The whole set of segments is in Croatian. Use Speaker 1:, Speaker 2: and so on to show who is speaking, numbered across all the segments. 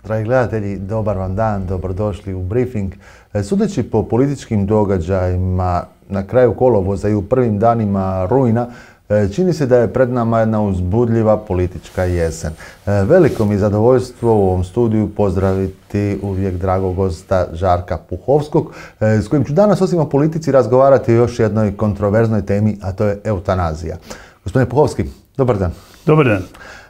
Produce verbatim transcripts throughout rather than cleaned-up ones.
Speaker 1: Dragi gledatelji, dobar vam dan, dobrodošli u briefing. Sudeći po političkim događajima na kraju kolovoza i u prvim danima rujna, čini se da je pred nama jedna uzbudljiva politička jesen. Veliko mi je zadovoljstvo u ovom studiju pozdraviti uvijek dragog gosta Žarka Puhovskog, s kojim ću danas osim o politici razgovarati o još jednoj kontroverznoj temi, a to je eutanazija. Gospodine Puhovski, dobar dan.
Speaker 2: Dobar dan.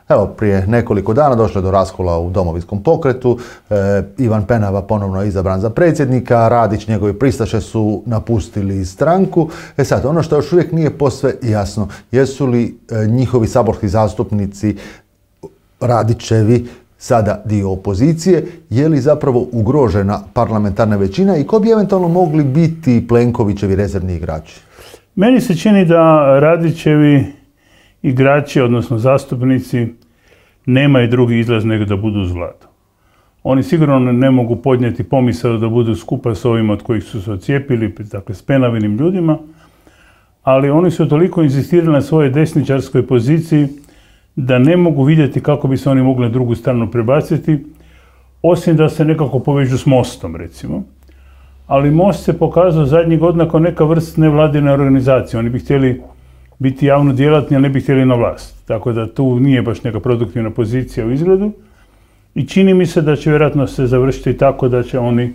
Speaker 1: Evo, prije nekoliko dana došlo je do raskola u Domovinskom pokretu. E, Ivan Penava ponovno je izabran za predsjednika, Radić, njegovi pristaše su napustili stranku. E sad, ono što još uvijek nije posve jasno, jesu li e, njihovi saborski zastupnici Radićevi sada dio opozicije, je li zapravo ugrožena parlamentarna većina i ko bi eventualno mogli biti Plenkovićevi rezervni igrači?
Speaker 2: Meni se čini da Radićevi igrači, odnosno zastupnici, nemaju drugi izlaz nego da budu uz vladu. Oni sigurno ne mogu podnijeti pomisao da budu skupa s ovima od kojih su se odcijepili, dakle s Penavinim ljudima, ali oni su toliko inzistirali na svojoj desničarskoj poziciji da ne mogu vidjeti kako bi se oni mogli na drugu stranu prebaciti, osim da se nekako povežu s Mostom, recimo. Ali Most se pokazao zadnjih godina kao neka vrst nevladine organizacije. Oni bi htjeli biti javno djelatni, ali ne bi htjeli na vlast. Tako da tu nije baš neka produktivna pozicija u izgledu. I čini mi se da će vjerojatno se završiti tako da će oni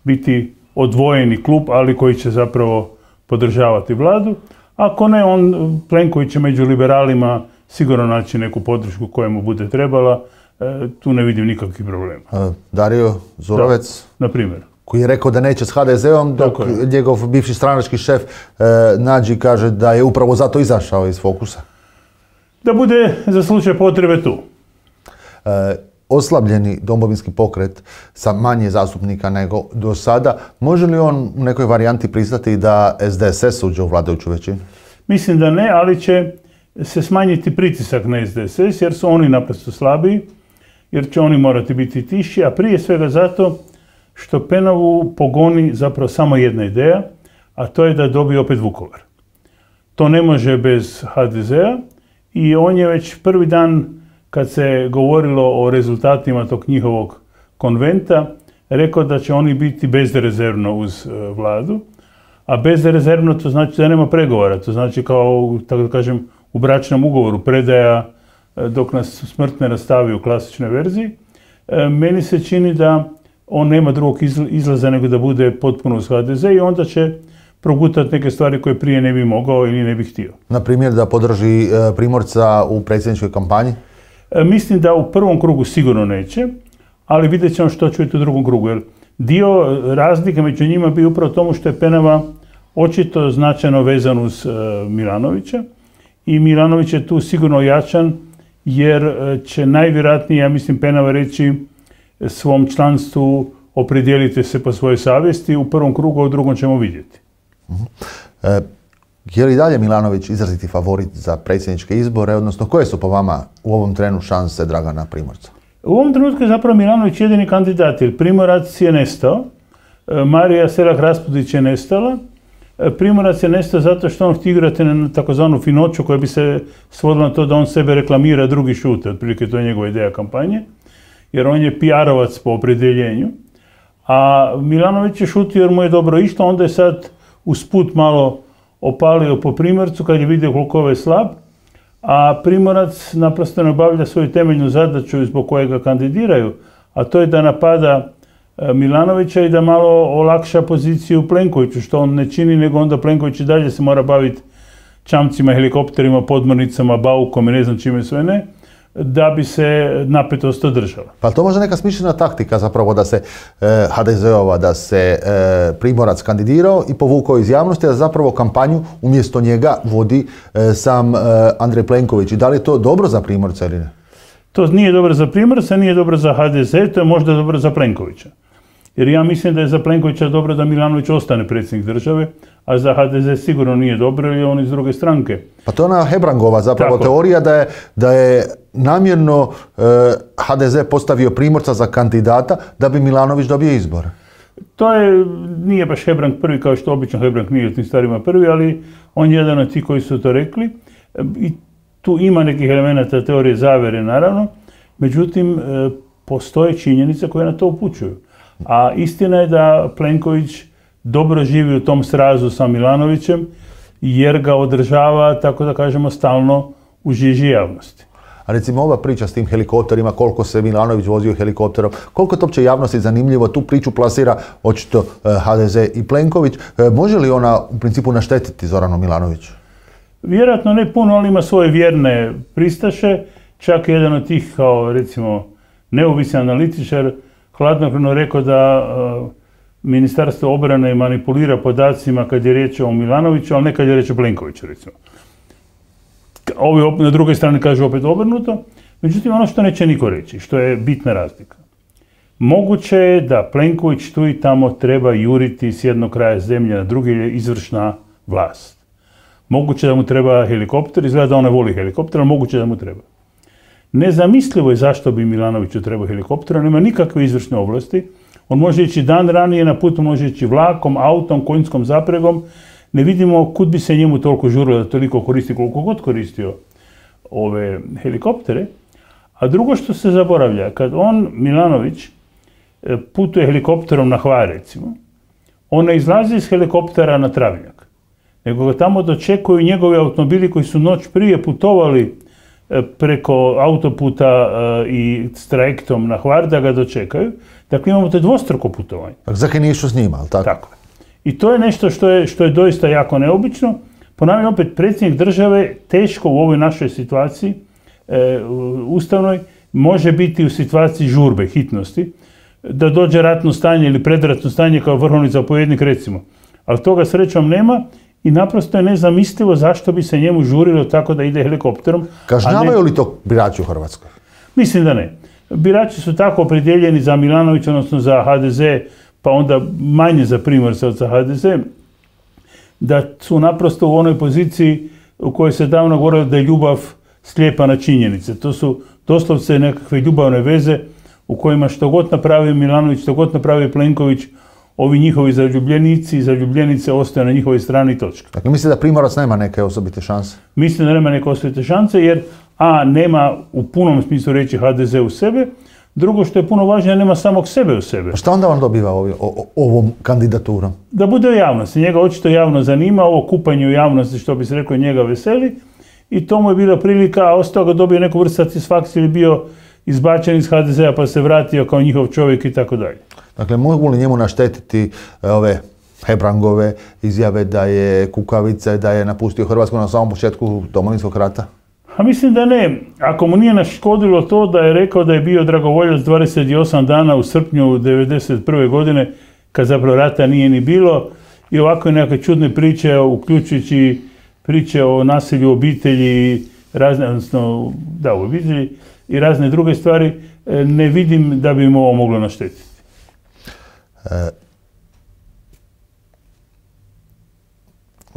Speaker 2: biti odvojeni klub, ali koji će zapravo podržavati vladu. Ako ne, on, Plenković će među liberalima sigurno naći neku podršku koja mu bude trebala. E, tu ne vidim nikakvih problema.
Speaker 1: Dario Zurovec?
Speaker 2: Da, na primjer.
Speaker 1: Koji je rekao da neće s ha de zeom, dok njegov bivši stranački šef e, Nađi kaže da je upravo zato izašao iz fokusa.
Speaker 2: Da bude za slučaj potrebe tu.
Speaker 1: E, oslabljeni Domovinski pokret sa manje zastupnika nego do sada, može li on u nekoj varijanti pristati da es de es es uđe u vladajuću većinu?
Speaker 2: Mislim da ne, ali će se smanjiti pritisak na es de es es jer su oni naprosto slabiji, jer će oni morati biti tiši, a prije svega zato što Penavu pogoni zapravo samo jedna ideja, a to je da dobije opet Vukovar. To ne može bez ha de zea i on je već prvi dan kad se govorilo o rezultatima tog njihovog konventa rekao da će oni biti bezrezervno uz vladu, a bezrezervno to znači da nema pregovora, to znači kao, tako da kažem, u bračnom ugovoru predaja dok nas smrt ne rastavi u klasičnoj verziji. Meni se čini da on nema drugog izlaza nego da bude potpuno uz ha de ze i onda će progutati neke stvari koje prije ne bi mogao ili ne bi htio.
Speaker 1: Na primjer da podrži Primorca u predsjedničkoj kampanji?
Speaker 2: Mislim da u prvom krugu sigurno neće, ali vidjet ćemo što će biti u drugom krugu. Jer dio razlike među njima bi upravo tomu što je Penava očito značajno vezan uz Milanovića i Milanović je tu sigurno jačan jer će najvjerojatnije, ja mislim, Penava reći svom članstvu opredijelite se po svojoj savjesti, u prvom krugu, a u drugom ćemo vidjeti.
Speaker 1: Uh-huh. E, je li dalje Milanović izraziti favorit za predsjedničke izbore, odnosno koje su po vama u ovom trenu šanse Dragana Primorca?
Speaker 2: U ovom trenutku je zapravo Milanović jedini kandidat, jer Primorac je nestao, Marija Selak-Raspudić je nestala, Primorac je nestao zato što on htio igrati na takozvanu finoću koja bi se svodila na to da on sebe reklamira, drugi šute, otprilike to je njegova ideja kampanje, jer on je pi arovac po opredjeljenju, a Milanović je šutio jer mu je dobro išlo, onda je sad usput malo opalio po Primorcu kad je vidio koliko je slab, a Primorac naprosto ne obavlja svoju temeljnu zadaću zbog koje ga kandidiraju, a to je da napada Milanovića i da malo olakša poziciju Plenkoviću, što on ne čini, nego onda Plenković i dalje se mora baviti čamcima, helikopterima, podmornicama, baukom i ne znam čime sve ne, da bi se napetost održala.
Speaker 1: Pa to možda neka smišljena taktika zapravo da se e, ha de zeova, da se e, Primorac kandidirao i povukao iz javnosti, da zapravo kampanju umjesto njega vodi e, sam e, Andrej Plenković. I da li je to dobro za Primorca ili ne?
Speaker 2: To nije dobro za Primorca, nije dobro za ha de ze, to je možda dobro za Plenkovića. Jer ja mislim da je za Plenkovića dobro da Milanović ostane predsjednik države, a za ha de ze sigurno nije dobro jer je on iz druge stranke.
Speaker 1: Pa to je ona Hebrangova zapravo
Speaker 2: Tako.
Speaker 1: teorija da je, da je namjerno e, ha de ze postavio Primorca za kandidata da bi Milanović dobio izbor.
Speaker 2: To je, nije baš Hebrang prvi, kao što obično Hebrang nije u tim stvarima prvi, ali on je jedan od tih koji su to rekli. I tu ima nekih elemenata teorije zavere, naravno. Međutim, postoje činjenice koje na to upućuju. A istina je da Plenković dobro živi u tom srazu sa Milanovićem, jer ga održava, tako da kažemo, stalno u žiži javnosti.
Speaker 1: A recimo ova priča s tim helikopterima, koliko se Milanović vozio helikopterom, koliko to uopće javnosti zanimljivo, tu priču plasira očito ha de ze i Plenković. Može li ona u principu naštetiti Zoranu Milanoviću?
Speaker 2: Vjerojatno ne puno, ali ima svoje vjerne pristaše. Čak jedan od tih, kao recimo neovisni analitičar, hladnokrvno rekao da uh, Ministarstvo obrane manipulira podacima kad je riječ o Milanoviću, ali ne kad je riječ o Plenkoviću, recimo. Ovi na drugoj strani kažu opet obrnuto. Međutim, ono što neće niko reći, što je bitna razlika. Moguće je da Plenković tu i tamo treba juriti s jednog kraja zemlje na drugi, je izvršna vlast. Moguće da mu treba helikopter, izgleda da on ne voli helikopter, ali moguće da mu treba. Nezamislivo je zašto bi Milanoviću trebao helikopter, on nema nikakve izvršne ovlasti. On može ići dan ranije, na putu može ići vlakom, autom, konjskom zapregom. Ne vidimo kud bi se njemu toliko žurilo da toliko koristi, koliko god koristio ove helikoptere. A drugo što se zaboravlja, kad on, Milanović, putuje helikopterom na Hvar, recimo, on ne izlazi iz helikoptera na Travnjak, nego ga tamo dočekuju njegovi automobili koji su noć prije putovali preko autoputa i s trajektom na Hvar da ga dočekaju. Dakle, imamo to dvostruko putovanje.
Speaker 1: Dakle, zakaj nije išao s njima, ali tako?
Speaker 2: Tako. I to je nešto što je, što je doista jako neobično. Ponavljam opet, predsjednik države teško u ovoj našoj situaciji e, ustavnoj može biti u situaciji žurbe, hitnosti, da dođe ratno stanje ili predratno stanje kao vrhovni zapovjednik, recimo. Ali toga srećom nema i naprosto je nezamislivo zašto bi se njemu žurilo tako da ide helikopterom.
Speaker 1: Kažnjavaju li to birači u Hrvatskoj?
Speaker 2: Mislim da ne. Birači su tako opredjeljeni za Milanovića, odnosno za ha de ze, pa onda manje za Primorca od za ha de ze, da su naprosto u onoj poziciji u kojoj se davno govorilo da je ljubav slijepa na činjenice. To su doslovce nekakve ljubavne veze u kojima što god napravi Milanović, što god napravi Plenković, ovi njihovi zaljubljenici i zaljubljenice ostaju na njihovoj strani točka.
Speaker 1: Dakle, mislim da Primorac nema neke osobite šanse?
Speaker 2: Mislim da nema neke osobite šanse jer a, nema u punom smislu reći ha de ze u sebe, drugo što je puno važnije, nema samog sebe u sebe.
Speaker 1: A šta onda on dobiva ovi, o, ovom kandidaturom?
Speaker 2: Da bude u javnosti. Njega očito javno zanima, ovo kupanje u javnosti, što bi se rekao, njega veseli. I to mu je bila prilika, a ostao ga dobio neku vrstu satisfakcije ili bio izbačen iz ha de zea pa se vratio kao njihov čovjek i tako dalje.
Speaker 1: Dakle, mogu li njemu naštetiti ove Hebrangove izjave da je kukavica i da je napustio Hrvatsku na samom početku Domovinskog rata?
Speaker 2: A mislim da ne. Ako mu nije naškodilo to da je rekao da je bio dragovoljac dvadeset osam dana u srpnju devedeset prve godine, kad zapravo rata nije ni bilo, i ovako je neke čudne priče, uključujući priče o nasilju u obitelji, razne, odnosno, da, u obitelji i razne druge stvari, ne vidim da bi im ovo moglo naštetiti.
Speaker 1: E,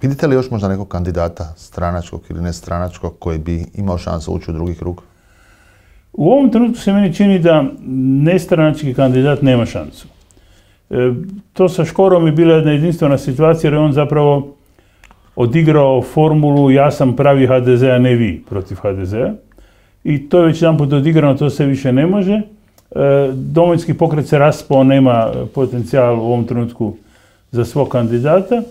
Speaker 1: vidite li još možda nekog kandidata stranačkog ili nestranačkog koji bi imao šansu ući u drugi krug?
Speaker 2: U ovom trenutku se meni čini da nestranački kandidat nema šansu. E, to sa Škorom je bila jedna jedinstvena situacija jer je on zapravo odigrao formulu ja sam pravi ha de ze, a ne vi protiv ha de zea. I to je već jedan put odigrano, to se više ne može. E, Domovinski pokret se raspao, nema potencijal u ovom trenutku za svog kandidata.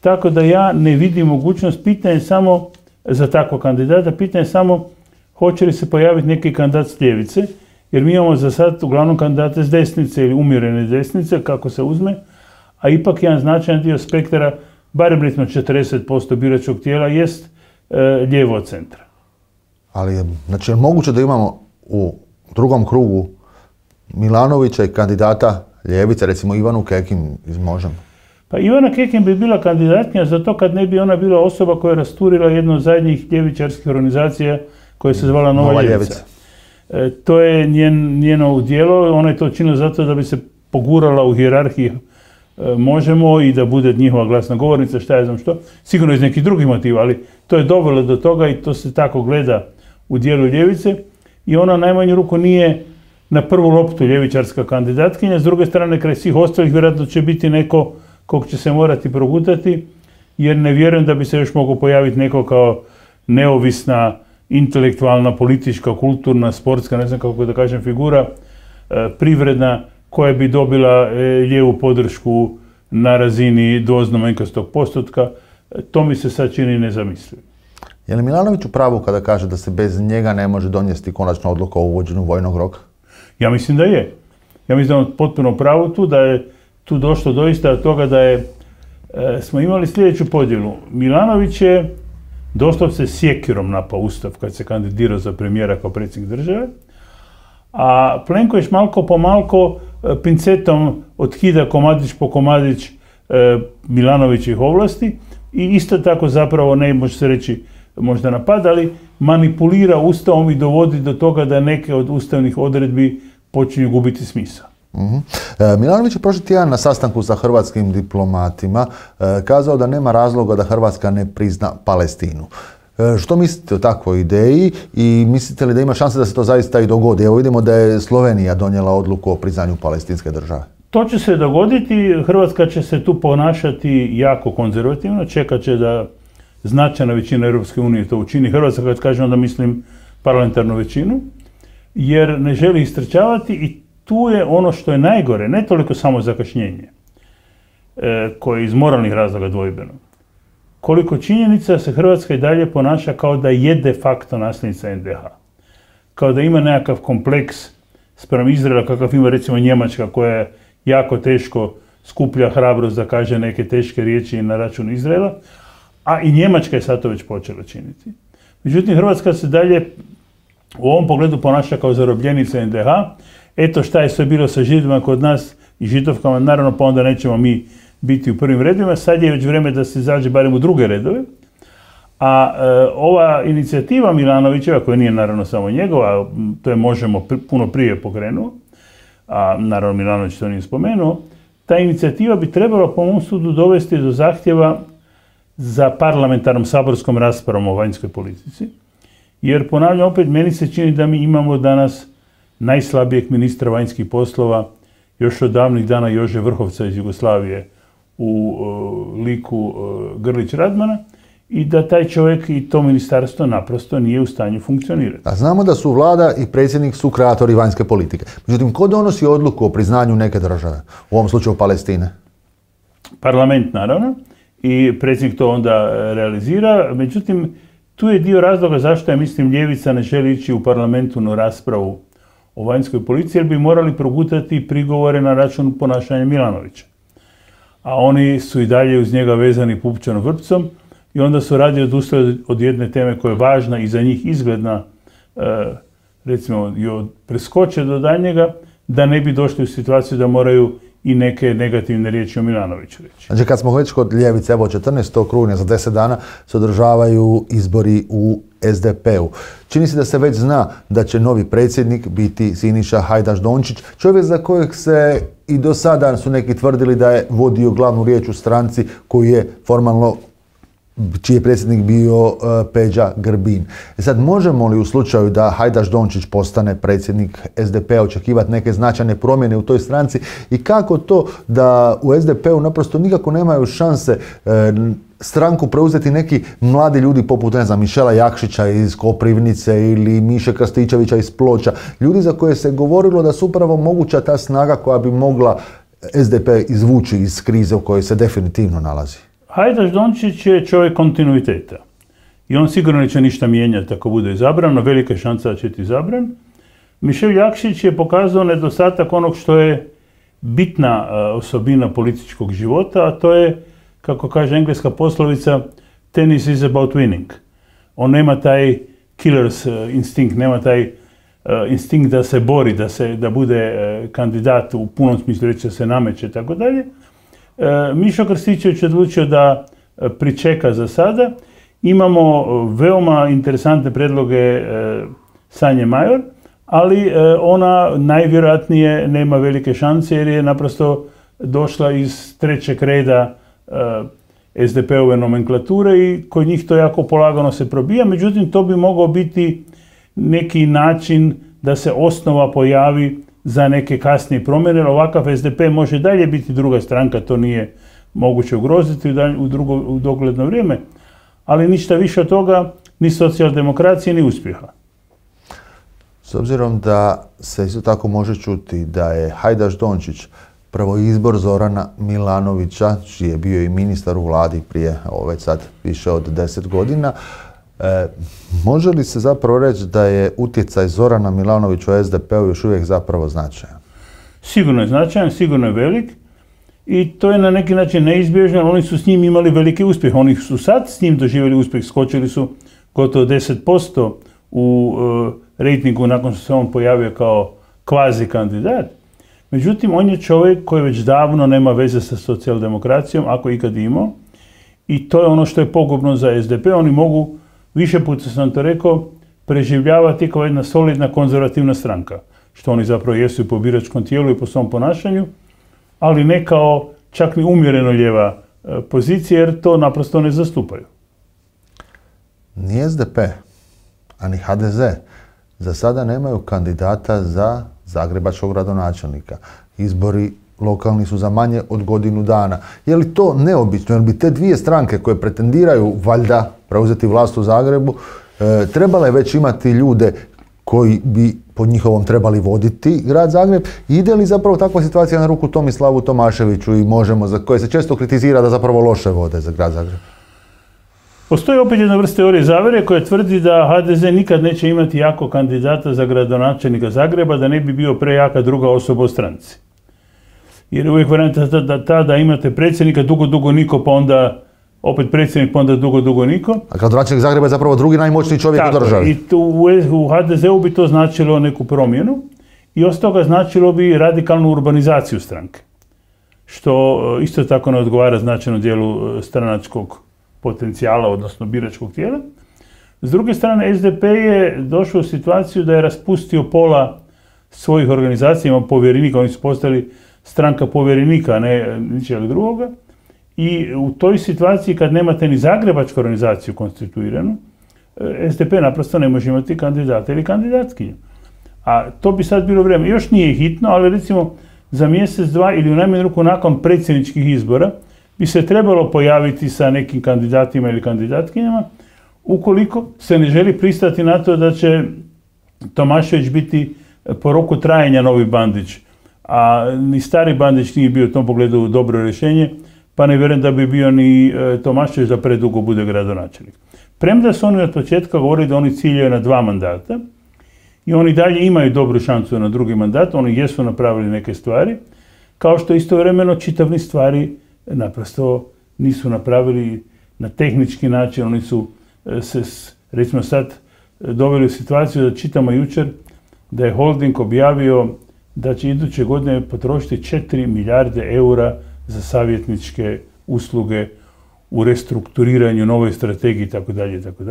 Speaker 2: Tako da ja ne vidim mogućnost, pitanje samo za takvog kandidata, pitanje samo hoće li se pojaviti neki kandidat s ljevice, jer mi imamo za sad uglavnom kandidate s desnice ili umjerene desnice, kako se uzme, a ipak jedan značajan dio spektra, barem recimo četrdeset posto biračkog tijela, jest e, lijevo od centra.
Speaker 1: Ali je, znači, je moguće da imamo u drugom krugu Milanovića i kandidata ljevice, recimo Ivanu Kekin iz Možemo?
Speaker 2: Pa Ivana Kekin bi bila kandidatnija za to kad ne bi ona bila osoba koja je rasturila jednu od zadnjih ljevičarskih organizacija koja se zvala Nova, Nova ljevica. E, to je njen, njeno udjelo, ona je to činila zato da bi se pogurala u hijerarhiji e, Možemo i da bude njihova glasna govornica, šta ja znam što, sigurno iz nekih drugih motiva, ali to je dovelo do toga i to se tako gleda u dijelu ljevice i ona najmanju ruku nije na prvu loptu ljevičarska kandidatkinja, s druge strane kraj svih ostalih vjerojatno će biti neko kog će se morati progutati, jer ne vjerujem da bi se još mogao pojaviti neko kao neovisna, intelektualna, politička, kulturna, sportska, ne znam kako da kažem, figura, privredna koja bi dobila lijevu podršku na razini dvoznamenkastog postotka. To mi se sad čini nezamislivo.
Speaker 1: Je li Milanović u pravu kada kaže da se bez njega ne može donijeti konačna odluka o uvođenju vojnog roka?
Speaker 2: Ja mislim da je. Ja mislim da je on potpuno u pravu tu, da je tu došlo doista od toga da je, e, smo imali sljedeću podjelu. Milanović je doslovce sjekirom napao Ustav kad se kandidirao za premijera kao predsjednik države, a Plenković malko po malko e, pincetom otkida komadić po komadić e, Milanovićih ovlasti i isto tako zapravo, ne može se reći možda napada, ali manipulira Ustavom i dovodi do toga da neke od ustavnih odredbi počinju gubiti smisao.
Speaker 1: Mm-hmm. E, Milanović je prošli tjedan na sastanku sa hrvatskim diplomatima e, kazao da nema razloga da Hrvatska ne prizna Palestinu. E, što mislite o takvoj ideji i mislite li da ima šanse da se to zaista i dogodi? Evo vidimo da je Slovenija donijela odluku o priznanju palestinske države.
Speaker 2: To će se dogoditi, Hrvatska će se tu ponašati jako konzervativno, čekat će da značajna većina Europske unije to učini. Hrvatska, kad kažem, onda mislim parlamentarnu većinu, jer ne želi istrčavati i tu je ono što je najgore, ne toliko samo zakašnjenje, e, koje je iz moralnih razloga dvojbeno, koliko činjenica se Hrvatska i dalje ponaša kao da je de facto nasljednica en de ha. Kao da ima nekakav kompleks spram Izraela, kakav ima recimo Njemačka, koja je jako teško skuplja hrabrost da kaže neke teške riječi na račun Izraela, a i Njemačka je sad to već počela činiti. Međutim, Hrvatska se dalje u ovom pogledu ponaša kao zarobljenica en de ha. Eto šta je sve bilo sa Židovima kod nas i Židovkama, naravno pa onda nećemo mi biti u prvim redovima. Sad je već vrijeme da se izađe barem u druge redove. A e, ova inicijativa Milanovićeva, koja nije naravno samo njegova, to je Možemo pr puno prije pokrenuo, a naravno Milanović to nije spomenuo, ta inicijativa bi trebala po mom sudu dovesti do zahtjeva za parlamentarnom saborskom raspravom o vanjskoj politici. Jer ponavljam opet, meni se čini da mi imamo danas najslabijeg ministra vanjskih poslova još od davnih dana Jože Vrhovca iz Jugoslavije u uh, liku uh, Grlić Radmana i da taj čovjek i to ministarstvo naprosto nije u stanju funkcionirati.
Speaker 1: A znamo da su vlada i predsjednik su kreatori vanjske politike. Međutim, ko donosi odluku o priznanju neke države, u ovom slučaju Palestine?
Speaker 2: Parlament, naravno, i predsjednik to onda realizira. Međutim, tu je dio razloga zašto ja mislim ljevica ne želi ići u parlamentu na raspravu o vanjskoj politici, jer bi morali progutati prigovore na račun ponašanja Milanovića. A oni su i dalje uz njega vezani pupčanom vrpcom i onda su radi odustali od jedne teme koja je važna i za njih izgledna, recimo, preskoče do daljnjega, da ne bi došli u situaciju da moraju i neke negativne riječi o Milanoviću reći.
Speaker 1: Znači, kad smo već kod ljevice, evo četrnaestog rujna za deset dana se održavaju izbori u es de pe u. Čini se da se već zna da će novi predsjednik biti Siniša Hajdaš Dončić, čovjek za kojeg se i do sada su neki tvrdili da je vodio glavnu riječ u stranci koju je formalno, čiji je predsjednik bio uh, Peđa Grbin. E sad, možemo li u slučaju da Hajdaš Dončić postane predsjednik es de pe a očekivati neke značajne promjene u toj stranci i kako to da u es de pe u naprosto nikako nemaju šanse uh, stranku preuzeti neki mladi ljudi poput, ne znam, Mišela Jakšića iz Koprivnice ili Miše Krstičevića iz Ploča, ljudi za koje se govorilo da su upravo moguća ta snaga koja bi mogla es de pe izvući iz krize u kojoj se definitivno nalazi.
Speaker 2: Hajdaš Dončić je čovjek kontinuiteta i on sigurno neće ništa mijenjati ako bude izabran, no velika je šansa da će biti izabran. Mišel Jakšić je pokazao nedostatak onog što je bitna osobina političkog života, a to je, kako kaže engleska poslovica, tennis is about winning. On nema taj killer's instinkt, nema taj instinkt da se bori, da, se, da bude kandidat u punom smislu reći da se nameće i tako dalje. Mišo Krstičević je odlučio da pričeka za sada. Imamo veoma interesantne predloge Sanje Major, ali ona najvjerojatnije nema velike šanse jer je naprosto došla iz trećeg reda es de pe ove nomenklature i kod njih to jako polagano se probija. Međutim, to bi mogao biti neki način da se osnova pojavi za neke kasnije promjene. Ovakav es de pe može dalje biti druga stranka, to nije moguće ugroziti u, drugo, u dogledno vrijeme, ali ništa više od toga, ni socijaldemokracije, ni uspjeha.
Speaker 1: S obzirom da se isto tako može čuti da je Hajdaš Dončić prvo izbor Zorana Milanovića, čiji je bio i ministar u vladi prije, ovo već sad više od deset godina, e, može li se zapravo reći da je utjecaj Zorana Milanovića u es de pe-u još uvijek zapravo značajan?
Speaker 2: Sigurno je značajan, sigurno je velik i to je na neki način neizbježno, ali oni su s njim imali veliki uspjeh. Oni su sad s njim doživjeli uspjeh, skočili su gotovo deset posto u e, rejtingu nakon što se on pojavio kao kvazi kandidat. Međutim, on je čovjek koji već davno nema veze sa socijaldemokracijom, ako ikad imao, i to je ono što je pogubno za es de pe. Oni mogu, više puta sam to rekao, preživljavati kao jedna solidna konzervativna stranka, što oni zapravo jesu i po biračkom tijelu i po svom ponašanju, ali ne kao čak ni umjereno lijeva pozicija, jer to naprosto ne zastupaju.
Speaker 1: Ni es de pe, a ni ha de ze za sada nemaju kandidata za zagrebačkog gradonačelnika. Izbori lokalni su za manje od godinu dana. Je li to neobično? Jer bi te dvije stranke koje pretendiraju valjda preuzeti vlast u Zagrebu, e, trebale već imati ljude koji bi po njihovom trebali voditi grad Zagreb? Ide li zapravo takva situacija na ruku Tomislavu Tomaševiću i Možemo, za koje se često kritizira da zapravo loše vode za grad Zagreb?
Speaker 2: Postoji opet jedna vrsta teorije zavere koja tvrdi da ha de ze nikad neće imati jako kandidata za gradonačelnika Zagreba, da ne bi bio prejaka druga osoba u stranci. Jer je uvijek varijanta da tada imate predsjednika, dugo, dugo niko, pa onda opet predsjednik, pa onda dugo, dugo niko.
Speaker 1: A gradonačelnik Zagreba je zapravo drugi najmoćniji čovjek u državi.
Speaker 2: I tu, u ha de ze-u bi to značilo neku promjenu i osim toga značilo bi radikalnu urbanizaciju stranke. Što isto tako ne odgovara značajnom dijelu stranačkog potencijala, odnosno biračkog tijela. S druge strane, es de pe je došao u situaciju da je raspustio pola svojih organizacija, ima povjerenika, oni su postali stranka povjerenika, a ne ničega drugoga. I u toj situaciji, kad nemate ni zagrebačku organizaciju konstituiranu, es de pe naprosto ne može imati kandidata ili kandidatkinju. A to bi sad bilo vrijeme. Još nije hitno, ali recimo za mjesec, dva ili u najmanju ruku nakon predsjedničkih izbora bi se trebalo pojaviti sa nekim kandidatima ili kandidatkinjama, ukoliko se ne želi pristati na to da će Tomašević biti po roku trajanja novi Bandić, a ni stari Bandić nije bio u tom pogledu dobro rješenje, pa ne vjerujem da bi bio ni Tomašević da predugo bude gradonačelnik. Premda su oni od početka govorili da oni ciljaju na dva mandata i oni dalje imaju dobru šansu na drugi mandat, oni jesu napravili neke stvari, kao što istovremeno čitav niz stvari naprosto nisu napravili na tehnički način. Oni su se, recimo sad, doveli u situaciju da čitamo jučer da je holding objavio da će iduće godine potrošiti četiri milijarde eura za savjetničke usluge u restrukturiranju, novoj strategiji itd. itd.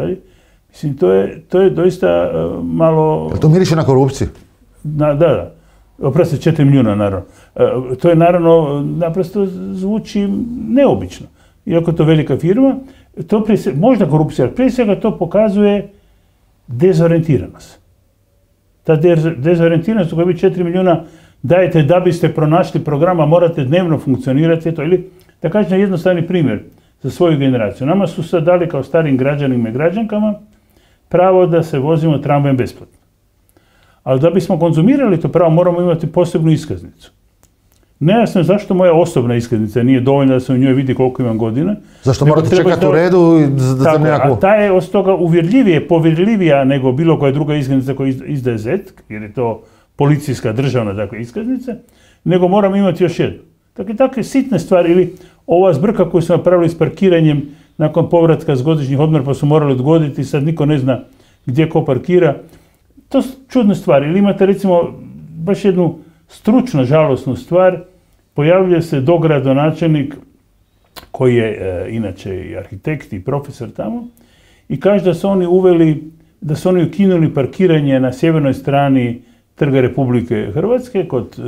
Speaker 2: Mislim, to je, to je doista uh, malo...
Speaker 1: Jel to miriše na korupciju?
Speaker 2: Na, da, da. Oprosti, četiri milijuna, naravno. Uh, to je naravno, naprosto zvuči neobično. Iako to velika firma, to prije, možda korupcija, ali prije svega to pokazuje dezorijentiranost. Ta dezorijentiranost u kojoj vi četiri milijuna dajete da biste pronašli programa, morate dnevno funkcionirati, to, ili da kažem jednostavni primjer za svoju generaciju. Nama su sad dali kao starim građanima i građankama pravo da se vozimo tramvajem besplatno. Ali da bismo konzumirali to pravo moramo imati posebnu iskaznicu. Nejasno je zašto moja osobna iskaznica nije dovoljna da se u njoj vidi koliko imam godina.
Speaker 1: Zašto morate čekati u redu za nekakvu...
Speaker 2: A ta je od toga uvjerljivije, povjerljivija nego bilo koja druga iskaznica koja izdaje zet, jer je to policijska državna dakle, iskaznica, nego moram imati još jednu. Dakle, takve sitne stvari, ili ova zbrka koju su napravili s parkiranjem nakon povratka s godišnjih odmora pa su morali odgoditi, sad niko ne zna gdje ko parkira. To su čudne stvari. Ili imate recimo baš jednu stručno žalosnu stvar, pojavljuje se dogradonačelnik koji je e, inače i arhitekt i profesor tamo i kaže da su oni uveli, da su oni ukinuli parkiranje na sjevernoj strani Trga Republike Hrvatske kod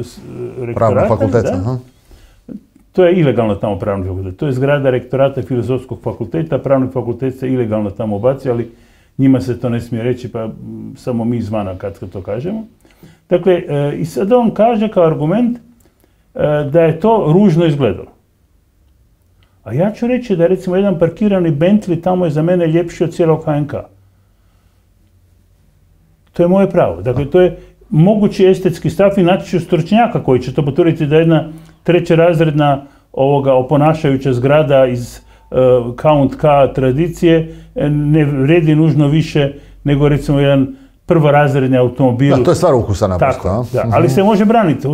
Speaker 2: rektorata.
Speaker 1: Pravnog fakulteta, aha.
Speaker 2: To je ilegalno tamo pravni fakultet. To je zgrada rektorata Filozofskog fakulteta, pravni fakultet se ilegalno tamo ubaci, ali njima se to ne smije reći, pa samo mi izvana kad to kažemo. Dakle, e, i sad on kaže kao argument e, da je to ružno izgledalo. A ja ću reći da recimo jedan parkirani Bentley tamo je za mene ljepši od cijelog ha en ka. To je moje pravo. Dakle, to je mogući estetski stav i naći ću stručnjaka koji će to potvrditi da jedna trećerazredna ovoga oponašajuća zgrada iz uh, Count K tradicije ne vredi nužno više nego recimo jedan prvorazredni automobil.
Speaker 1: Da, to je stvar ukusa naprosto.
Speaker 2: Tako, da, ali se može braniti.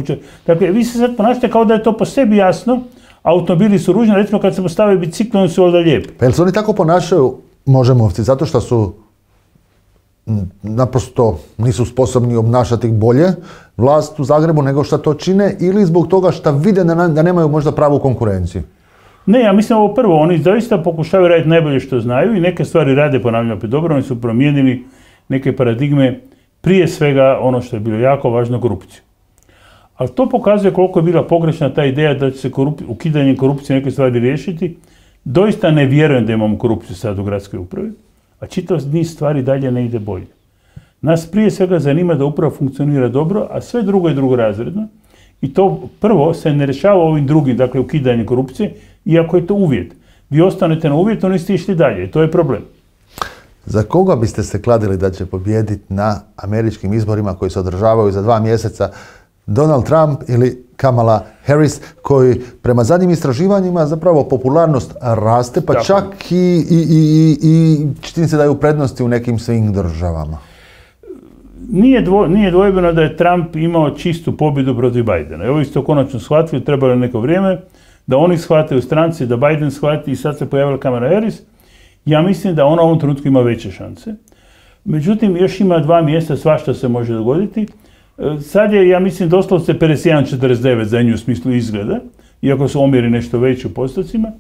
Speaker 2: Dakle, vi se sad ponašate kao da je to po sebi jasno, automobili su ružni, recimo kad se postave bicikli, oni su onda lijepi.
Speaker 1: Pa jel se oni tako ponašaju, možemovci, zato što su naprosto nisu sposobni obnašati bolje vlast u Zagrebu nego što to čine ili zbog toga što vide da nemaju možda pravu konkurenciju?
Speaker 2: Ne, ja mislim ovo prvo, oni zaista pokušavaju raditi najbolje što znaju i neke stvari rade, ponavljam opet dobro, oni su promijenili neke paradigme, prije svega ono što je bilo jako važno, korupciju. Ali to pokazuje koliko je bila pogrešna ta ideja da će se korup... ukidanje korupcije neke stvari riješiti. Doista ne vjerujem da imamo korupciju sad u gradskoj upravi, a čitav niz stvari dalje ne ide bolje. Nas prije svega zanima da uprava funkcionira dobro, a sve drugo je drugorazredno. I to prvo se ne rješava ovim drugim, dakle ukidanje korupcije, iako je to uvjet. Vi ostanete na uvjetu, niste išli dalje. To je problem.
Speaker 1: Za koga biste se kladili da će pobijediti na američkim izborima koji se održavaju za dva mjeseca? Donald Trump ili Kamala Harris, koji prema zadnjim istraživanjima zapravo popularnost raste, pa
Speaker 2: Tako.
Speaker 1: čak i, i, i, i čini se da je u prednosti u nekim svim državama.
Speaker 2: Nije, dvo, nije dvojbeno da je Trump imao čistu pobjedu protiv Bidena. I ovi su to konačno shvatili, trebalo je neko vrijeme da oni shvate u stranci, da Biden shvati i sad se pojavila Kamala Harris. Ja mislim da ona u ovom trenutku ima veće šanse. Međutim, još ima dva mjesta, svašta se može dogoditi. Sad je, ja mislim, doslovce pedeset jedan četrdeset devet za nju u smislu izgleda, iako su omjeri nešto veći u postocima,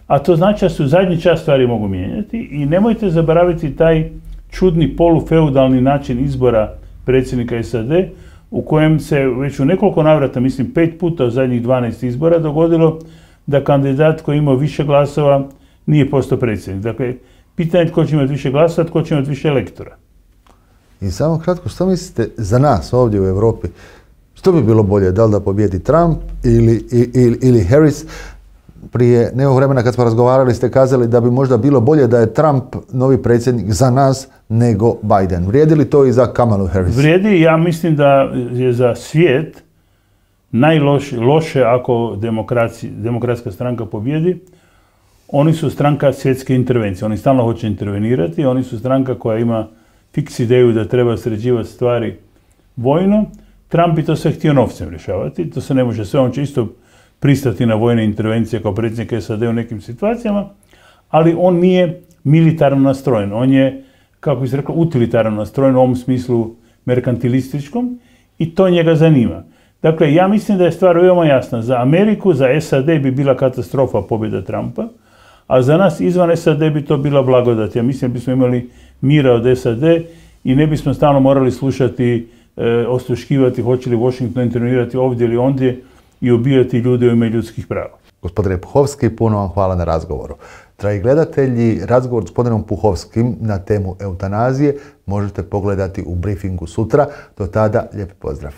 Speaker 2: a to znači da se u zadnji čas stvari mogu mijenjati i nemojte zaboraviti taj čudni polufeudalni način izbora predsjednika S A D u kojem se već u nekoliko navrata, mislim pet puta u zadnjih dvanaest izbora dogodilo da kandidat koji ima više glasova nije postao predsjednik. Dakle, pitanje je tko će imati više glasova, tko će imati više elektora.
Speaker 1: I samo kratko, što mislite za nas ovdje u Europi? Što bi bilo bolje? Da li da pobjedi Trump ili, ili, ili Harris? Prije nekog vremena kad smo razgovarali ste kazali da bi možda bilo bolje da je Trump novi predsjednik za nas nego Biden. Vrijedi li to i za Kamalu Harris?
Speaker 2: Vrijedi, ja mislim da je za svijet najloše loše ako demokratska stranka pobjedi. Oni su stranka svjetske intervencije, oni stalno hoće intervenirati, oni su stranka koja ima fiks ideju da treba sređivati stvari vojno. Trump bi to sve htio novcem rješavati, to se ne može sve, on će isto pristati na vojne intervencije kao predsjednik S A D u nekim situacijama, ali on nije militarno nastrojen, on je, kako bi se reklo, utilitarno nastrojen u ovom smislu merkantilističkom i to njega zanima. Dakle, ja mislim da je stvar veoma jasna. Za Ameriku, za S A D bi bila katastrofa pobjeda Trumpa, a za nas izvan S A D bi to bila blagodat. Ja mislim da bismo imali mira od S A D i ne bismo stalno morali slušati, e, osluškivati hoće li Washington intervenirati ovdje ili ondje i ubijati ljude u ime ljudskih prava.
Speaker 1: Gospodine Puhovski, puno vam hvala na razgovoru. Dragi gledatelji, razgovor s gospodinom Puhovskim na temu eutanazije možete pogledati u briefingu sutra. Do tada, lijep pozdrav.